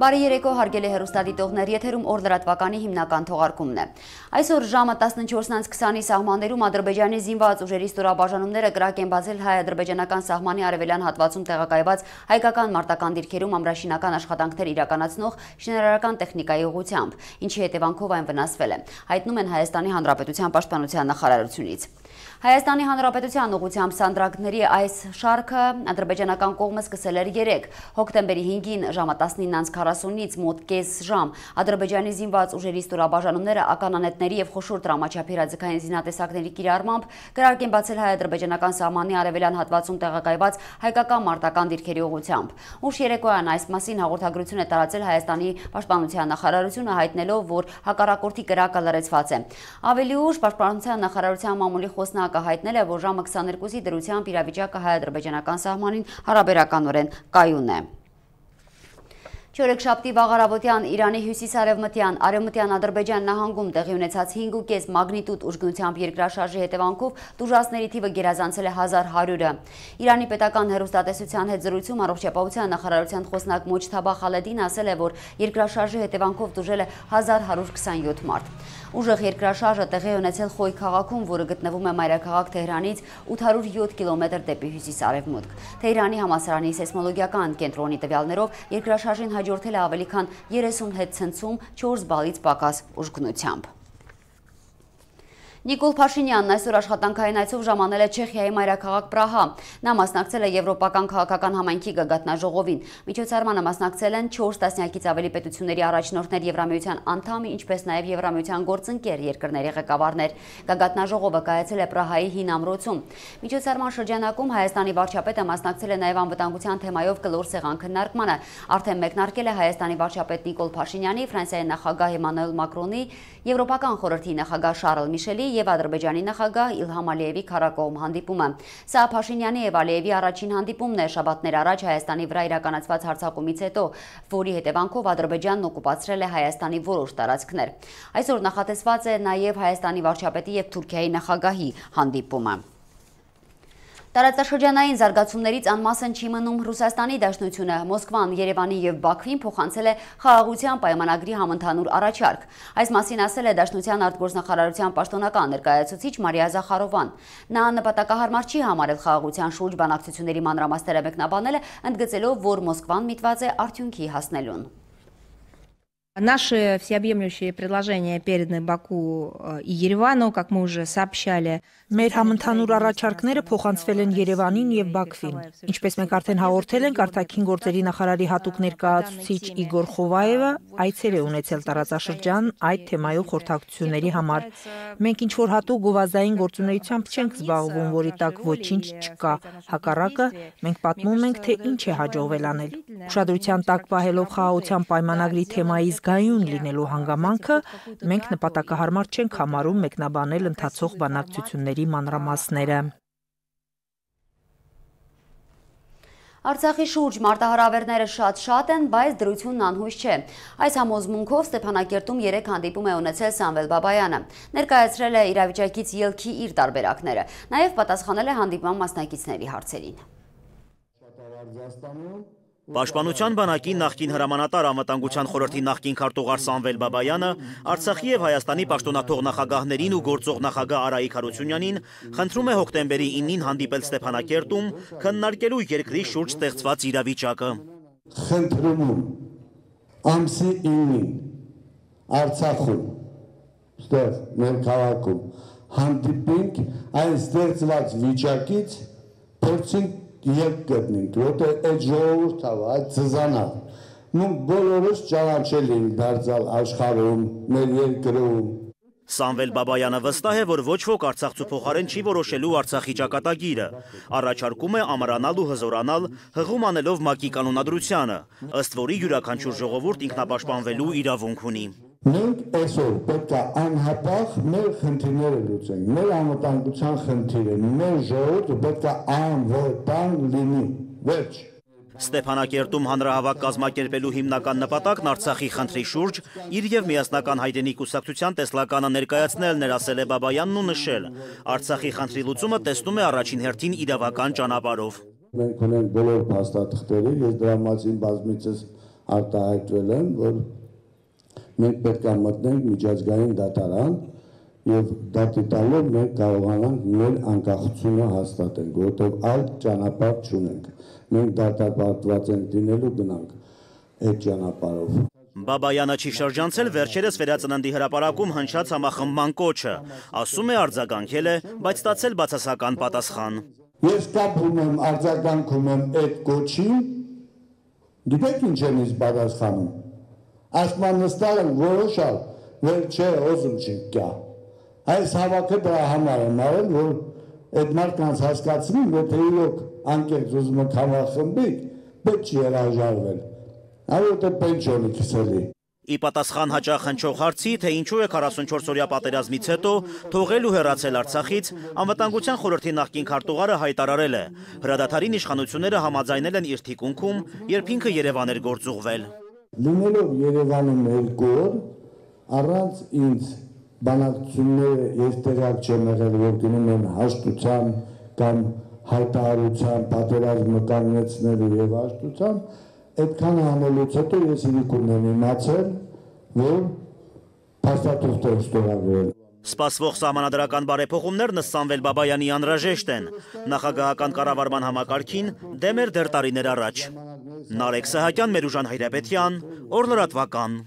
Բարի երեկո հարգելի հեռուստադիտողներ, եթերում օր լրատվականի հիմնական թողարկումն է։ Այսօր ժամը 14:20-ի սահմաններում Ադրբեջանի զինված ուժերի ստորաբաժանումները կրակ են բացել հայ-ադրբեջանական սահմանի արևելյան հատվածում տեղակայված հայկական մարտական դիրքերում ամրաշինական աշխատանքներ իրականացնող շինարարական տեխնիկայի ուղղությամբ, ինչի հետևանքով այն վնասվել է, հայտնում են Հայաստանի Հանրապետության պաշտպանության նախարարությունից։ Հայաստանի Հանրապետության ուղղությամբ սանդրակների այս շարքը ադրբեջանական կողմը սկսել էր 3 հոկտեմբերի 5-ին ժամը 19:40-ից մոտ կես ժամ Ադրբեջանի զինված ուժերի ստորաբաժանումները ականանետների եւ խոշոր տրամաչափի հրաձգային զինատեսակների կիրառմամբ կրակ են բացել հայ-ադրբեջանական սահմանի արևելյան հատվածում տեղակայված հայկական մարտական դիրքերի ուղղությամբ։ Ուշ երեկոյան այս մասին հաղորդագրություն է տարածել Հայաստանի պաշտպանության նախարարությունը, հայտնելով, որ հակառակորդի կրակը լրացված է։ Ավելի ուշ պաշտպանության նախարարության մամուլի խոսնակը հայտնել է, որ ժամը 22-ի դրությամբ իրավիճակը հայ-ադրբեջանական սահմանին հարաբերականորեն կայուն է։ Չորեքշաբթի վաղարավոտյան Իրանի հյուսիս-արևմտյան Արևմտյան Ադրբեջան նահանգում տեղի ունեցած 5.5 մագնիտուդ ուժգնությամբ երկրաշարժի հետևանքով տուժածների թիվը գերազանցել է 1100-ը։ Իրանի պետական հեռուստատեսության հետ զրույցում առողջապահության նախարարության խոսնակ Մոջթաբա Խալեդին ասել է, որ երկրաշարժի հետևանքով տուժել է 1127 մարդ։ Ուժեղ երկրաշարժը տեղի ունեցել Խոյ քաղաքում, որը գտնվում է մայրաքաղաք Թեհրանից 807 կիլոմետր դեպի հյուսիս-արևմուտք։ Թեհրանի համալսարանի սեյսմոլոգիական կենտրոնի տվյալներով երկրաշարժին հաջորդել է ավելի քան 30 հետ ցնցում 4 բալից պակաս ուժգնությամբ։ Նիկոլ Փաշինյանն այսօր աշխատանքային այցով ժամանել է Չեխիայի մայրաքաղաք Պրահա։ Նա մասնակցել է Եվրոպական քաղաքական համայնքի գագաթնաժողովին։ Միջոցառմանը մասնակցել են 4 տասնյակից ավելի պետությունների առաջնորդներ, Եվրամիության անդամ, ինչպես նաև Եվրամիության գործընկեր երկրների ղեկավարներ։ Գագաթնաժողովը կայացել է Պրահայի հին ամրոցում։ Միջոցառման շրջանակում Հայաստանի վարչապետը մասնակցել է նաև անվտանգության թեմայով կլոր սեղան քննարկմանը։ Արդեն մեկնարկել է Հայաստանի վարչապետ Նիկոլ Փաշինյանի, Ֆրանսիայի նախագահ Էմանուել Մակրոնի, Եվրոպական խորհրդի նախագահ Շարլ Միշելի և Ադրբեջանի նախագահ Իլհամ Ալիևի քարակողմ հանդիպումը։ Սա Փաշինյանի և Ալիևի առաջին հանդիպումն է շաբաթներ առաջ Հայաստանի վրա իրականացված հարձակումից հետո, որի հետևանքով Ադրբեջանն օկուպացրել է Հայաստանի որոշ տարածքներ։ Այսօր նախատեսված է նաև Հայաստանի վարչապետի և Թուրքիայի նախագահի հանդիպումը։ Տարածաշրջանային զարգացումներից անմասն չի մնում Ռուսաստանի Դաշնությունը։ Մոսկվան, Երևանի և Բաքվին փոխանցել է խաղաղության պայմանագրի համընդհանուր առաջարկ։ Այս մասին ասել է Դաշնության արտգործնախարարության պաշտոնական ներկայացուցիչ Մարիա Զախարովան։ Նա նպատակահարմար չի համարել խաղաղության շուրջ բանակցությունների մանրամասները մեկնաբանել, ընդգծելով, որ Մոսկվան միտված է արդյունքի հասնելուն։ Наши всеобъемлющие предложения переданы Баку и Еревану, как мы уже сообщали. Մեր համընդհանուր առաջարկները փոխանցվել են Երևանին եւ Բաքվին։ Ինչպես մենք արդեն հաղորդել ենք, արտաքին գործերի նախարարի հատուկ ներկայացուցիչ Իգոր Խովայևը այցեր է ունեցել տարածաշրջան այդ թեմայով խորհրդակցությունների համար։ Մենք ինչ որ հատուկ գովազդային գործունեությամբ չենք զբաղվում, որի տակ ոչինչ չկա։ Հակառակը, մենք պատմում ենք, թե ինչ է հաջողվել անել։ Ուշադրության տակ պահելով խաղաղության պայմանագրի թեմայի զգայուն լինելու հանգամանքը, մենք նպատակահարմար չենք համարում մեկնաբանել ընթացող բանակցությունների մանրամասները։ Արցախի շուրջ մարտահրավերները շատ են, բայց դրությունն անհույս չէ։ Այս համոզմունքով Ստեփանակերտում 3 հանդիպում է ունեցել Սամվել Բաբայանը։ Ներկայացրել է իրավիճակից ելքի իր տարբերակները։ Նաև պատասխանել է հանդիպման մասնակիցների հարցերին։ Պաշտպանության բանակի նախկին հրամանատար անվտանգության խորհրդի նախկին քարտուղար Սամվել Բաբայանը Արցախի եւ Հայաստանի պաշտոնաթող նախագահներին ու գործող նախագահ Արայիկ Հարությունյանին խնդրում է հոկտեմբերի 9-ին հանդիպել Ստեփանակերտում, քննարկելու երկրի շուրջ ստեղծված իրավիճակը։ Խնդրում եմ ամսի 9-ին Արցախում, ստեղ մեր քաղաքում հանդիպենք այն ստեղծված վիճակից, փորձենք Երբ գտնենք, որտեղ այդ ժողովուրդը, այդ ծզանա, մենք բոլորս ճանաչել ենք դարձյալ աշխարհում, մեր երկրում։ Սամվել Բաբայանը վստահ է, որ ոչ ոք Արցախցու փոխարեն չի որոշելու Արցախի ճակատագիրը։ Առաջարկում է ամրանալ ու հզորանալ, հղում անելով ՄԱԿ-ի կանոնադրությանը, ըստ որի յուրաքանչյուր ժողովուրդ ինքնապաշտպանվելու իրավունք ունի։ Մենք այսօր պետք է անհապաղ մեր խնդիրները լուծենք, մեր անվտանգության խնդիրը, մեր ժողովուրդը պետք է անվտանգ լինի, վերջ։ Ստեփանակերտում հանրահավաք կազմակերպելու հիմնական նպատակն Արցախի խնդրի շուրջ իր եւ միասնական հայրենի կուսակցության տեսլականը ներկայացնելն էր, ասել է Բաբայանն ու նշել. Արցախի խնդրի լուծումը տեսնում է առաջին հերթին իրավական ճանապարհով։ Մենք ունենք բոլոր փաստաթղթերը, ես դրա մասին բազմիցս արտահայտվել են, որ մենք պետք է մտնենք միջազգային դատարան եւ դատի տալով մենք կարողանանք մեր անկախությունը հաստատենք, որովհետեւ այլ ճանապարհ չունենք։ Մենք դատապարտված ենք դինելու գնանք այդ ճանապարհով։ Բաբայանը չի շրջանցել վերջերս վերածննդի հրապարակում հնչած համախմբման կոչը, ասում է արձագանքել է, բայց ստացել բացասական պատասխան։ Ես կապ ունեմ, արձագանքում եմ այդ կոչին, գիտեք ինչ եմ ինձ պատասխանում։ Ասման նստալ եմ որոշալ, որ չէ, ոզում չի կյա։ Այս հավաքը դրա համար եմ արել, որ այդ մարդկանց հասկացնում, եթե իրոք անկեղծ ուզում եք համախմբիկ, պետք չի հրաժարվել։ Այո, պենսիոնի քսելի։ Ի պատասխան հաճախ հնչող հարցի, թե ինչու է 44-օրյա պատերազմից հետո թողել ու հեռացել Արցախից, Անվտանգության խորհրդի նախկին քարտուղարը հայտարարել է. հրադադարին իշխանությունները համաձայնել են իր թիկունքում, երբ ինքը Երևան էր գործուղվել։ Լինելով Երևանում 2 օր, առանց ինձ բանակցությունները ես տեղյակ չեմ եղել, որ գնում են հաշտության կամ հայտարարության, պատերազմը կանգնեցնելու եւ հաշտության, այդքան անելուց հետո ես իրիկուն եմ իմացել, որ փաստաթուղթ է ստորագրել։ Սպասվող սահմանադրական բարեփոխումներն ըստ Սամվել Բաբայանի անհրաժեշտ են։ Նախագահական կառավարման համակարգին դեմ էր դեռ տարիներ առաջ։ Նարեկ Սահակյան, Մերուժան Հայրապետյան, Օր-լրատվական։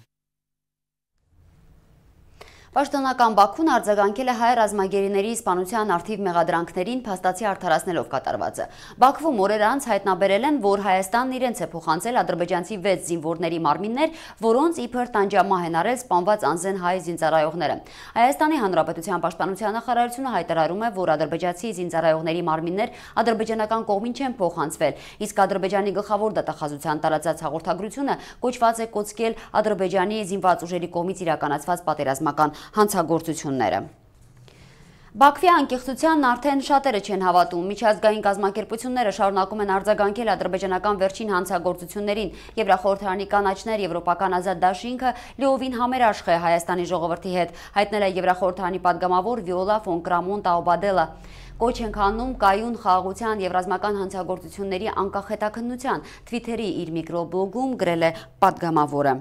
Պաշտոնական Բաքուն արձագանքել է հայ ռազմագերիների սպանության արդիվ մեղադրանքներին փաստացի արդարացնելով կատարվածը։ Բաքվում օրեր անց հայտնաբերել են, որ Հայաստանն իրենց է փոխանցել ադրբեջանցի 6 զինվորների մարմիններ, որոնց իբր տանջամահ են արել սպանված անզեն հայ զինծառայողները։ Հայաստանի Հանրապետության պաշտպանության նախարարությունը հայտարարում է, որ ադրբեջանցի զինծառայողների մարմիններ ադրբեջանական կողմին չեն փոխանցվել, իսկ Ադրբեջանի գլխավոր դատախազության տարածած հաղորդագրությունը կոչված է կոծկել Ադրբեջանի զինված ուժերի կողմից իրականացված պատերազմական հանցագործությունները։ Բաքվի անկեղծությանն արդեն շատերը չեն հավատում։ Միջազգային կազմակերպությունները շարունակում են արձագանքել ադրբեջանական վերջին հանցագործություններին։ Եվրախորհրդարանի կանաչներ եվրոպական ազատ դաշինքը լիովին համերաշխ է Հայաստանի ժողովրդի հետ, հայտնել է Եվրախորհրդարանի падգամավոր Վիոլա ֆոն Կրամոն Տաուբադելը։ Կոչ ենք անում կայուն խաղաղության եւ ռազմական հանցագործությունների անկախ հետաքննության, Twitter-ի իր միկրոբլոգում գրել է падգամավորը։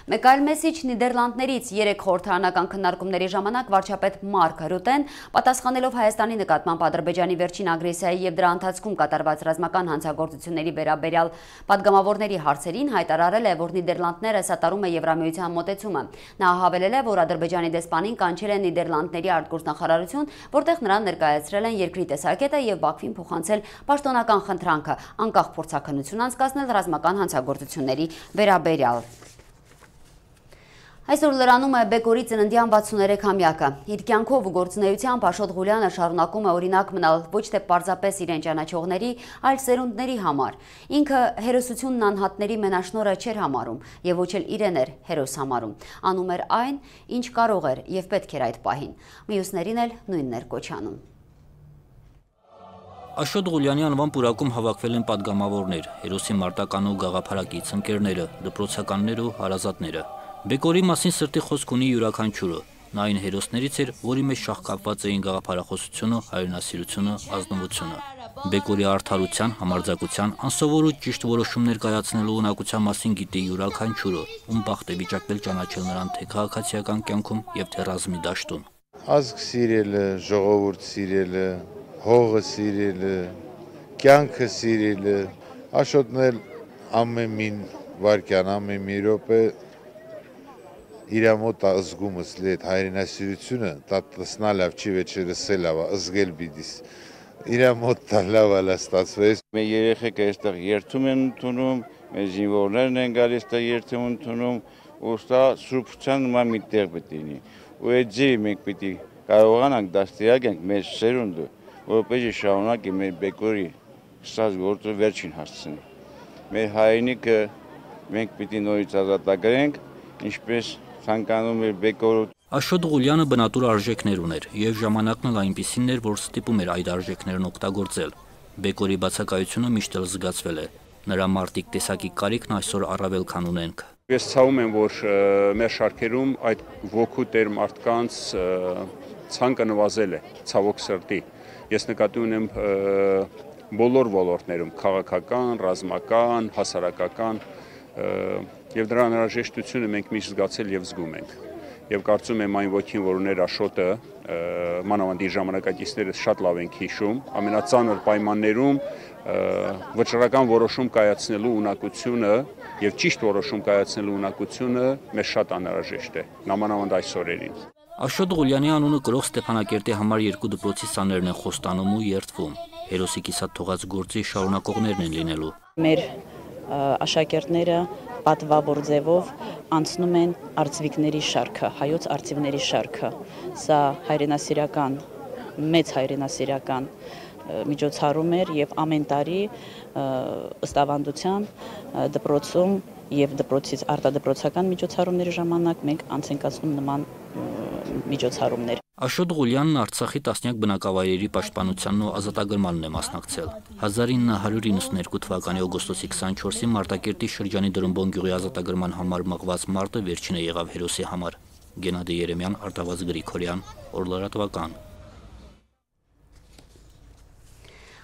Մեկ այլ մեսիջ Նիդերլանդներից 3 խորհրդարանական քննարկումների ժամանակ վարչապետ Մարկ Ռուտեն, պատասխանելով Հայաստանի նկատմամբ Ադրբեջանի վերջին ագրեսիայի եւ դրա ընթացքում կատարված ռազմական հանցագործությունների վերաբերյալ падգամավորների հարցերին, հայտարարել է, որ Նիդերլանդները սատարում է Եվրամիության մոտեցումը։ Նա հավելել է, որ Ադրբեջանի դեսպանին կանչել է Նիդերլանդների արտգործնախարարություն, որտեղ նրան ներկայացրել են երկրի տեսակետը եւ Բաքվին փոխանցել պաշտոնական խնդրանքը անկախ փորձաքննություն անցկացնել ռազմական հանցագործությունների վերաբերյալ։ Այսօր լրանում է Բեկորի ծննդյան 63-ամյակը։ Իր կյանքով ու գործունեությամբ Աշոտ Ղուլյանը շարունակում է օրինակ մնալ ոչ թե պարզապես իրեն ճանաչողների, այլ սերունդների համար։ Ինքը հերոսությունն անհատների մենաշնորհը չէր համարում եւ ոչ էլ իրեն էր հերոս համարում։ Անում էր այն, ինչ կարող էր եւ պետք էր այդ պահին։ Մյուսներին էլ նույնն էր կոչանում։ Աշոտ Ղուլյանի անվան պուրակում հավաքվել են падգամավորներ, հերոսի մարտական ու գաղափարակից ընկերները, դպրոցականներ ու հարազատները։ Բեկորի մասին սրտի խոսք ունի յուրաքանչյուրը։ Նա այն հերոսներից էր, որի մեջ շաղկապված էին գաղափարախոսությունը, հայրենասիրությունը, ազնվությունը։ Բեկորի արդարության, համարձակության, անսովոր ու ճիշտ որոշումներ կայացնելու ունակության մասին գիտի յուրաքանչյուրը, ում բախտ է վիճակվել ճանաչել նրան թե քաղաքացիական կյանքում եւ թե ռազմի դաշտում։ Ազգ սիրելը, ժողովուրդ սիրելը, հողը սիրելը, կյանքը սիրելը, Աշոտն էլ ամեն մի վայրկյան, ամեն մի րոպե իր մոտ ազգումս լետ հայրենասիրությունը տատասնա լավ չի վեճը լսել լավ ազգել բիդիս իր մոտ լավ ալա ստացվեց մեր երեխեքը այստեղ երթում են ընդունում մեր զինվորներն են գալիս այստեղ երթում ընդունում ու սա սուրբության նման մի տեղ պետք լինի ու այդ ձևի մենք պիտի կարողանանք դաստիարակենք մեր սերունդը որպեսզի շարունակի մեր Բեկորի ստաց գործը վերջին հասցնի մեր հայրենիքը մենք պիտի նորից ազատագրենք ինչպես ցանկանում էր Բեկորը։ Աշոտ Ղուլյանը բնատուր արժեքներ ուներ եւ ժամանակն էլ այնպիսին էր, որ ստիպում էր այդ արժեքներն օգտագործել։ Բեկորի բացակայությունը միշտ էլ զգացվել է։ Նրա մարտիկ տեսակի կարիքն այսօր առավել քան ունենք։ Ես ցավում եմ, որ մեր շարքերում այդ ոգու տեր մարդկանց ցանկը նվազել է, ցավոք սրտի։ Ես նկատի ունեմ բոլոր ոլորտներում՝ քաղաքական, ռազմական, հասարակական եւ դրա անհրաժեշտությունը մենք միշտ զգացել եւ զգում ենք։ Եվ կարծում եմ այն ոգին, որ ուներ Աշոտը, մանավանդ իր ժամանակակիցները շատ լավ ենք հիշում, ամենածանր պայմաններում վճռական որոշում կայացնելու ունակությունը եւ ճիշտ որոշում կայացնելու ունակությունը մեզ շատ անհրաժեշտ է, նամանավանդ այս օրերին։ Աշոտ Ղուլյանի անունը կրող Ստեփանակերտի համար 2 դպրոցի սաներն են խոստանում ու երդվում։ Հերոսի կիսատ թողած գործի շարունակողներն են լինելու։ Մեր աշակերտները պատվավոր ձևով անցնում են արծիվիկների շարքը, հայոց արծիվների շարքը։ Սա հայրենասիրական, մեծ հայրենասիրական միջոցառում էր եւ ամեն տարի ըստ ավանդության դպրոցում եւ դպրոցից արտադպրոցական միջոցառումների ժամանակ մենք անց ենք կացնում նման միջոցառումներ։ Աշոտ Ղուլյանն Արցախի տասնյակ բնակավայրերի պաշտպանությանն ու ազատագրմանն է մասնակցել։ 1992 թվականի օգոստոսի 24-ին Մարտակերտի շրջանի Դրումբոն գյուղի ազատագրման համար մղված մարտը վերջինը եղավ հերոսի համար։ Գենադի Երեմյան, Արտավազ Գրիգորյան, Օրլարատվական։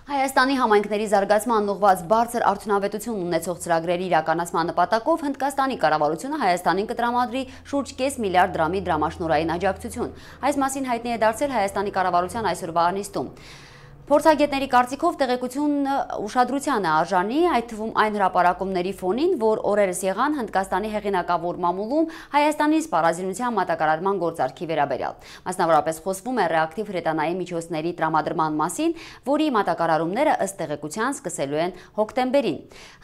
Հայաստանի համայնքների զարգացման ուղղված բարձր արդյունավետություն ունեցող ծրագրերի իրականացման նպատակով Հնդկաստանի կառավարությունը Հայաստանին կտրամադրի շուրջ 5 միլիարդ դրամի դրամաշնորհային աջակցություն։ Այս մասին հայտնի է դարձել Հայաստանի կառավարության այսօրվա նիստում։ Փորձագետների կարծիքով տեղեկությունն ուշադրության է արժանի, այդ թվում այն հրապարակումների ֆոնին, որ օրերս եղան Հնդկաստանի հեղինակավոր մամուլում Հայաստանի սպառազինության մատակարարման գործարքի վերաբերյալ։ Մասնավորապես խոսվում է ռեակտիվ հրետանային միջոցների տրամադրման մասին, որի մատակարարումները ըստ տեղեկության սկսելու են հոկտեմբերին։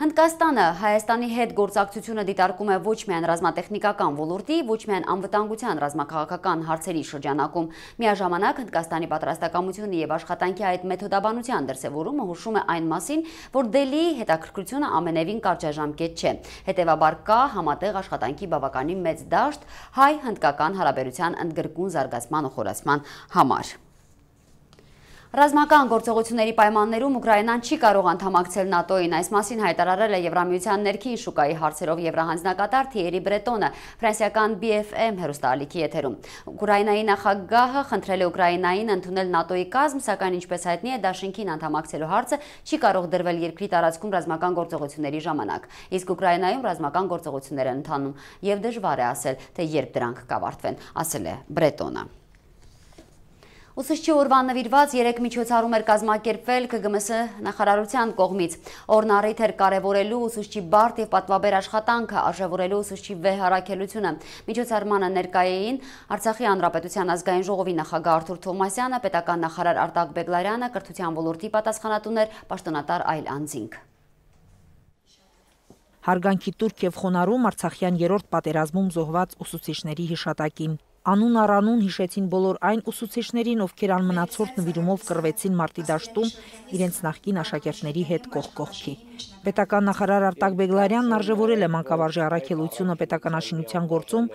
Հնդկաստանը Հայաստանի հետ գործակցությունը դիտարկում է ոչ միայն ռազմատեխնիկական ոլորտի, ոչ միայն անվտանգության ռազմաքաղաքական հարցերի շրջանակում։ Միաժամանակ Հնդկաստանի պատրաստակամությունը եւ աշխատանքի այդ մեթոդաբանության դրսևորումը հուշում է այն մասին, որ Դելիի հետաքրքրությունը ամենևին կարճաժամկետ չէ։ Հետևաբար կա համատեղ աշխատանքի բավականին մեծ դաշտ հայ-հնդկական հարաբերության ընդգրկուն զարգացման ու խորացման համար։ Ռազմական գործողությունների պայմաններում Ուկրաինան չի կարող անդամակցել ՆԱՏՕ-ին, այս մասին հայտարարել է Եվրամիության ներքին շուկայի հարցերով եվրահանձնակատար Թիերի Բրետոնը ֆրանսիական BFM հեռուստաալիքի եթերում։ Ուկրաինայի նախագահը խնդրել է Ուկրաինային ընդունել ՆԱՏՕ-ի կազմ, սակայն ինչպես հայտնի է, դաշինքին անդամակցելու հարցը չի կարող դրվել երկրի տարածքում ռազմական գործողությունների ժամանակ։ Իսկ Ուկրաինայում ռազմական գործողություններ են ընթանում եւ դժվար է ասել, թե երբ դրանք կավարտվեն, ասել է Բրետոնը։ Ուսուցչի օրվան նվիրված 3 միջոցառում էր կազմակերպվել ԿԳՄՍ նախարարության կողմից։ Օրն առիթ էր կարևորելու ուսուցչի բարդ եւ պատվաբեր աշխատանքը, արժևորելու ուսուցչի վեհ առաքելությունը։ Միջոցառմանը ներկայ էին Արցախի հանրապետության ազգային ժողովի նախագահ Արթուր Թովմասյանը, պետական նախարար Արտակ Բեգլարյանը, կրթության ոլորտի պատասխանատուներ, պաշտոնատար այլ անձինք։ Հարգանքի տուրք եւ խոնարհում Արցախյան 3-րդ պատերազմում զոհված ուսուցիչների հիշատակին։ Անուն առանուն հիշեցին բոլոր այն ուսուցիչներին, ովքեր անմնացորդ նվիրումով կռվեցին մարտի դաշտում իրենց նախկին աշակերտների հետ կողք կողքի։ Պետական նախարար Արտակ Բեգլարյանն արժևորել է մանկավարժի առաքելությունը պետականաշինության գործում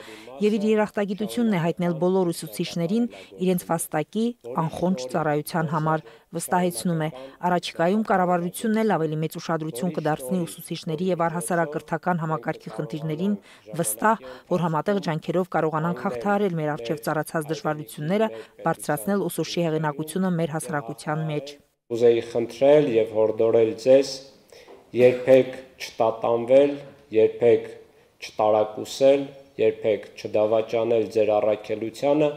եւ իր երախտագիտությունն է հայտնել բոլոր ուսուցիչներին իրենց վաստակի անխոնջ ծառայության համար։ Վստահեցնում է, առաջիկայում կառավարությունն էլ ավելի մեծ ուշադրություն կդարձնի ուսուցիչների եւ առհասարակրթական համակարգի խնդիրներին, վստահ, որ համատեղ ջանքերով կարողանանք հաղթահարել մեր առջև ծառացած դժվարությունները, բարձրացնել ուսուցչի հեղինակությունը մեր հասարակության մեջ։ Ուզեի խնդրել եւ հորդորել ձեզ երբեք չտատանվել, երբեք չտարակուսել, երբեք չդավաճանել ձեր առաքելությանը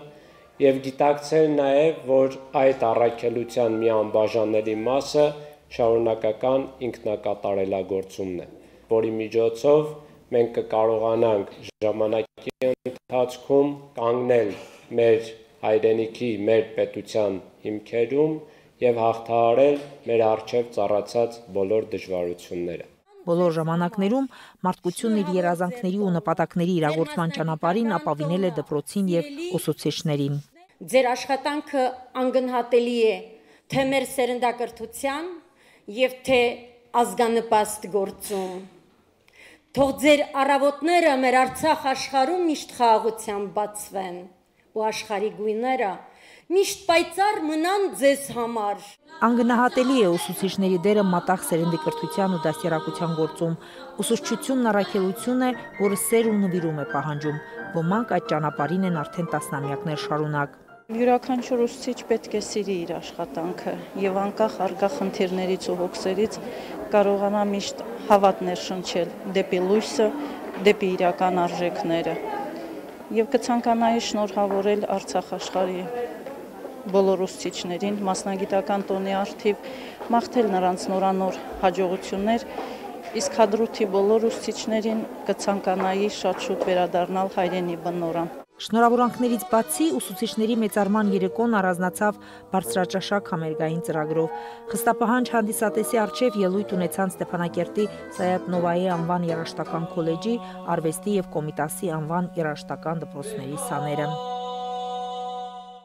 եւ գիտակցել նաեւ, որ այդ առաքելության մի անբաժանելի մասը շարունակական ինքնակատարելագործումն է, որի միջոցով մենք կկարողանանք ժամանակի ընթացքում կանգնել մեր հայրենիքի, մեր պետության հիմքերում եւ հաղթահարել մեր առջև ծառացած բոլոր դժվարությունները։ Բոլոր ժամանակներում մարդկությունն իր երազանքների ու նպատակների իրագործման ճանապարհին ապավինել է դպրոցին եւ ուսուցիչներին։ Ձեր աշխատանքը անգնահատելի է թե մեր սերնդակրթության եւ թե ազգանպաստ գործում։ Թող ձեր առավոտները մեր Արցախ աշխարհում միշտ խաղաղությամբ բացվեն ու աշխարհի գույները միշտ պայծառ մնան ձեզ համար։ Անգնահատելի է ուսուցիչների դերը մատաղ սերնդի կրթության ու դաստիարակության գործում։ Ուսուցչությունն առաքելություն է, որը սեր ու նվիրում է պահանջում։ Ոմանք այդ ճանապարհին են արդեն տասնամյակներ շարունակ։ Յուրաքանչյուր ուսուցիչ պետք է սիրի իր աշխատանքը եւ անկախ արկա խնդիրներից ու հոգսերից կարողանա միշտ հավատներ շնչել դեպի լույսը, դեպի իրական արժեքները։ Եվ կցանկանայի շնորհավորել Արցախ աշխարհի բոլոր ուսուցիչներին մասնագիտական տոնի առթիվ, մաղթել նրանց նորանոր հաջողություններ, իսկ Հադրութի բոլոր ուսուցիչներին կցանկանայի շատ շուտ վերադառնալ հայրենի բնօրան։ Շնորհավորանքներից բացի ուսուցիչների մեծարման երեկոն առանձնացավ բարձրաճաշակ համերգային ծրագրով։ Խստապահանջ հանդիսատեսի առջև ելույթ ունեցան Ստեփանակերտի Սայաթ Նովայի անվան երաժշտական քոլեջի, արվեստի և Կոմիտասի անվան երաժշտական դպրոցների սաները։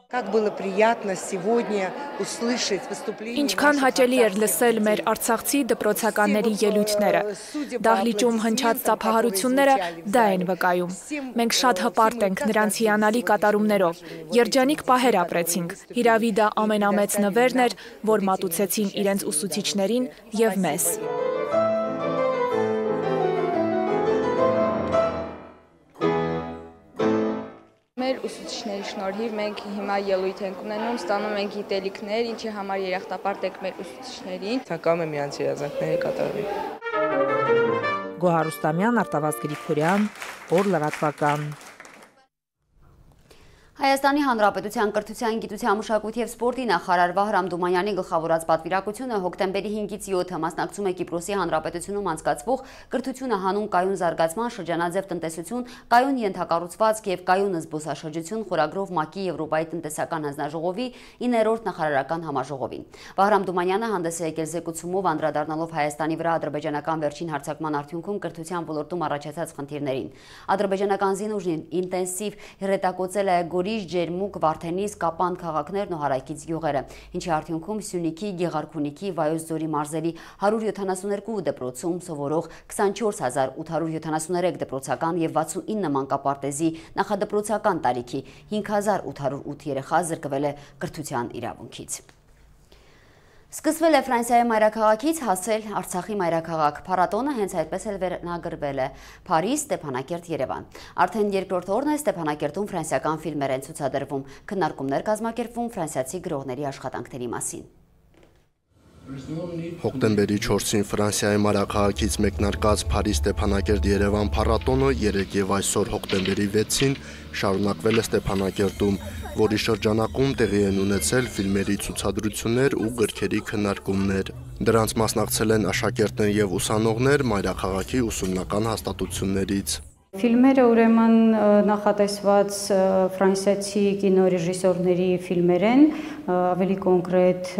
Как было приятно сегодня услышать выступление. Ինչքան հաճելի էր լսել մեր արցախցի դպրոցականների ելույթները։ Դահլիճում հնչած ծափահարությունները դա են վկայում։ Մենք շատ հպարտ ենք նրանց հիանալի կատարումներով։ Երջանիկ պահեր ապրեցինք։ Հիրավի դա ամենամեծ նվերն էր, որ մատուցեցին իրենց ուսուցիչներին և մեզ։ Մեր ուսուցիչների շնորհիվ մենք հիմա ելույթ ենք ունենում, ստանում ենք գիտելիքներ, ինչի համար երախտապարտ ենք մեր ուսուցիչներին։ Թակամ եմ իրանց երազանքների կատարվի։ Գոհար Ռուստամյան, Արտավազդ Գրիգորյան, օր լրատվական։ Հայաստանի Հանրապետության կրթության, գիտության, մշակույթի և սպորտի նախարար Վահրամ Դումանյանի գլխավորած պատվիրակությունը հոկտեմբերի 5-ից 7-ը մասնակցում է Կիպրոսի Հանրապետությունում անցկացվող կրթությունը հանուն կայուն զարգացման, շրջանաձև տնտեսություն, կայուն ենթակառուցվածք և կայուն զբոսաշրջություն խորագրով ՄԱԿ-ի Եվրոպայի տնտեսական հանձնաժողովի 9-րդ նախարարական համաժողովին։ Վահրամ Դումանյանը հանդես է եկել զեկուցումով անդրադառնալով Հայաստանի վրա ադրբեջանական վերջին հարձակման արդյունքում կրթության ոլորտում առաջացած խնդիրներին։ Ադրբեջանական զինուժն ինտենսիվ հրետակոծել է Գորիժ, Ջերմուկ, Վարդենիս, Կապան քաղաքներն ու հարակից գյուղերը, ինչի արդյունքում Սյունիքի, Գեղարքունիքի, Վայոց ձորի մարզերի 172 դպրոցում սովորող 24873 դպրոցական և 69 մանկապարտեզի նախադպրոցական տարիքի 5808 երեխա զրկվել է կրթության իրավունքից։ Սկսվել է Ֆրանսիայի մայրաքաղաքից հասել Արցախի մայրաքաղաք։ Փառատոնը հենց այդպես էլ վերնագրվել է Փարիզ, Ստեփանակերտ, Երևան։ Արդեն երկրորդ օրն է Ստեփանակերտում ֆրանսիական ֆիլմեր են ցուցադրվում, քննարկումներ կազմակերպվում ֆրանսիացի գրողների աշխատանքների մասին։ Հոկտեմբերի 4-ին Ֆրանսիայի մայրաքաղաքից մեկնարկած Փարիզ, Ստեփանակերտ, Երևան փառատոնը 3 և այսօր հոկտեմբերի 6-ին շարունակվել է Ստեփանակերտում, որի շրջանակում տեղի են ունեցել ֆիլմերի ցուցադրություններ ու գրքերի քննարկումներ։ Դրանց մասնակցել են աշակերտներ և ուսանողներ մայրաքաղաքի ուսումնական հաստատություններից։ Ֆիլմերը ուրեմն նախատեսված ֆրանսիացի կինոռեժիսորների ֆիլմեր են, ավելի կոնկրետ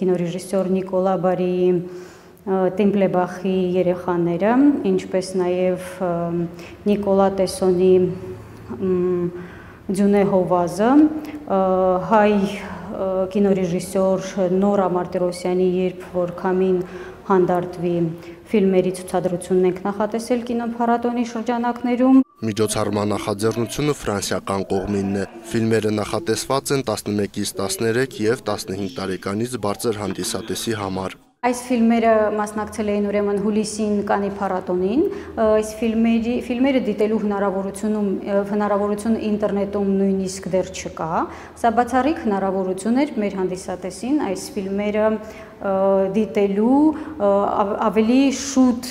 կինոռեժիսոր Նիկոլա Բարիի Տեմպլեբախի երեխաները, ինչպես նաև Նիկոլա Տեսոնի Ձյունե Հովազը, հայ կինոռեժիսոր Նորա Մարտիրոսյանի «Երբ որ քամին հանդարտվի» ֆիլմերի ցուցադրությունն ենք նախատեսել կինոփառատոնի շրջանակներում։ Միջոցառման նախաձեռնությունը ֆրանսիական կողմինն է։ Ֆիլմերը նախատեսված են 11-ից 13 և 15 տարեկանից բարձր հանդիսատեսի համար։ Այս ֆիլմերը մասնակցել էին ուրեմն հուլիսին Կանի փառատոնին, այս ֆիլմերը դիտելու հնարավորություն ինտերնետում նույնիսկ դեռ չկա, սա բացառիկ հնարավորություն էր մեր հանդիսատեսին այս ֆիլմերը դիտելու ավելի շուտ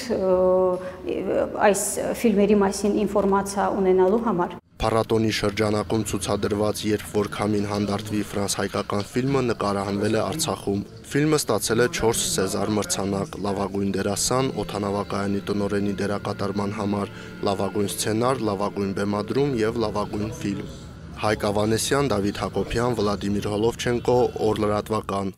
այս ֆիլմերի մասին ինֆորմացիա ունենալու համար։ Փառատոնի շրջանակում ցուցադրված «Երբ որ քամին հանդարտվի» ֆրանս-հայկական ֆիլմը նկարահանվել է Արցախում։ Ֆիլմը ստացել է 4 Սեզար մրցանակ՝ լավագույն դերասան, օդանավակայանի տնօրենի դերակատարման համար, լավագույն սցենար, լավագույն բեմադրում և լավագույն ֆիլմ։ Հայկ Ավանեսյան, Դավիթ Հակոբյան, Վլադիմիր Հոլովչենկո, օր լրատվական։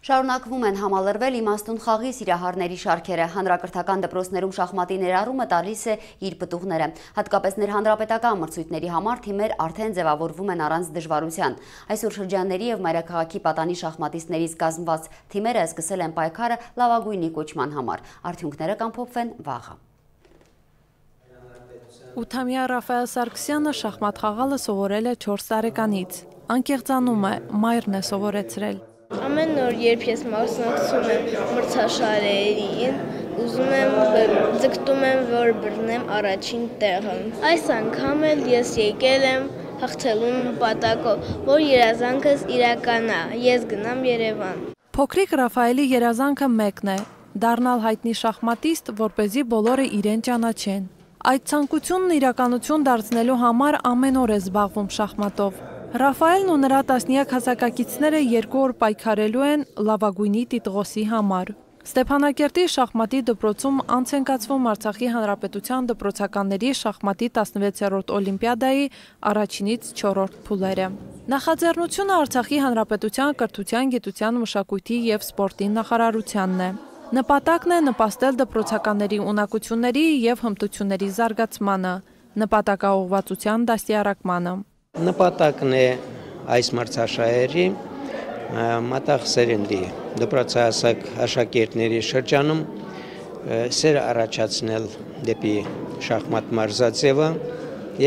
Շարունակվում են համալրվել իմաստուն խաղի սիրահարների շարքերը։ Հանրակրթական դպրոցներում շախմատի ներառումը տալիս է իր պտուղները։ Հատկապես ներհանրապետական մրցույթների համար թիմեր արդեն ձևավորվում են առանց դժվարության։ Այսօր շրջանների և մայրաքաղաքի պատանի շախմատիստներից կազմված թիմերը սկսել են պայքարը լավագույնի կոչման համար։ Արդյունքները կամփոփվեն վաղը։ 8-ամյա Ռաֆայել Սարգսյանը շախմատ խաղալը սովորել է 4 տարեկանից։ Անկեղծանում է, մայրն է սովորեցրել։ Ամեն օր, երբ ես մասնակցում եմ մրցաշարերին, ուզում եմ, ձգտում եմ, որ բռնեմ առաջին տեղը։ Այս անգամ էլ ես եկել եմ հաղթելու նպատակով, որ երազանքս իրականա, ես գնամ Երևան։ Փոքրիկ Ռաֆայելի երազանքը մեկն է՝ դառնալ հայտնի շախմատիստ, որպեսզի բոլորը իրեն ճանաչեն։ Այդ ցանկությունն իրականություն դարձնելու համար ամեն օր է զբաղվում շախմատով։ Ռաֆայելն ու նրա տասնյակ հասակակիցները 2 օր պայքարելու են լավագույնի տիտղոսի համար։ Ստեփանակերտի շախմատի դպրոցում անց են կացվում Արցախի Հանրապետության դպրոցականների շախմատի 16-րդ օլիմպիադայի առաջինից 4-րդ փուլերը։ Նախաձեռնությունը Արցախի Հանրապետության կրթության, գիտության, մշակույթի և սպորտի նախարարությանն է։ Նպատակն է նպաստել դպրոցականների ունակությունների և հմտությունների զարգացմանը, նպատակաուղղվածության դաստիարակմանը։ Նպատակն է այս մրցաշահերի մատաղ սերնդի դպրոցահասակ աշակերտների շրջանում սեր առաջացնել դեպի շախմատ մարզաձևը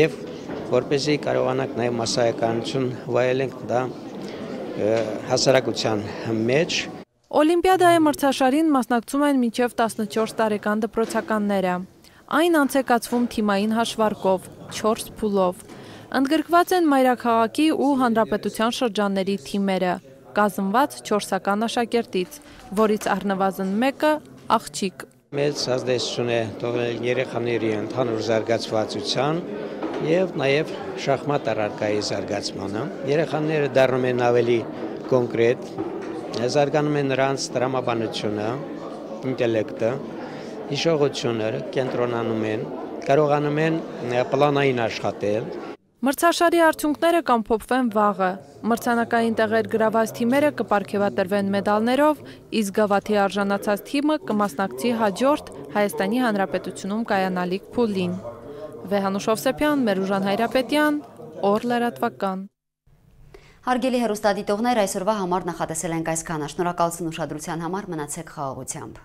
և որպեսզի կարողանանք նաև մասսայականություն վայելենք դա հասարակության մեջ։ Օլիմպիադայի մրցաշարին մասնակցում են մինչև 14 տարեկան դպրոցականները։ Այն անց է կացվում թիմային հաշվարկով, 4 փուլով։ Ընդգրկված են մայրաքաղաքի ու հանրապետության շրջանների թիմերը, կազմված 4-ական աշակերտից, որից առնվազն մեկը աղջիկ։ Մեծ ազդեցություն է թողել երեխաների ընդհանուր զարգացվածության և նաև շախմատ առարկայի զարգացմանը։ Երեխաները դառնում են ավելի կոնկրետ, զարգանում է նրանց տրամաբանությունը, ինտելեկտը, հիշողությունը, կենտրոնանում են, կարողանում են պլանային աշխատել։ Մրցաշարի արդյունքները կամփոփվեն վաղը։ Մրցանակային տեղեր գրաված թիմերը կպարգևատրվեն մեդալներով, իսկ գավաթի արժանացած թիմը կմասնակցի հաջորդ Հայաստանի Հանրապետությունում կայանալիք փուլին։ Վեհանուշ Հովսեփյան, Մերուժան Հայրապետյան, Օր լրատվական։ Հարգելի հեռուստադիտողներ, այսօրվա համար նախատեսել ենք այսքանը։ Շնորհակալություն ուշադրության համար, մնացեք խաղաղությամբ։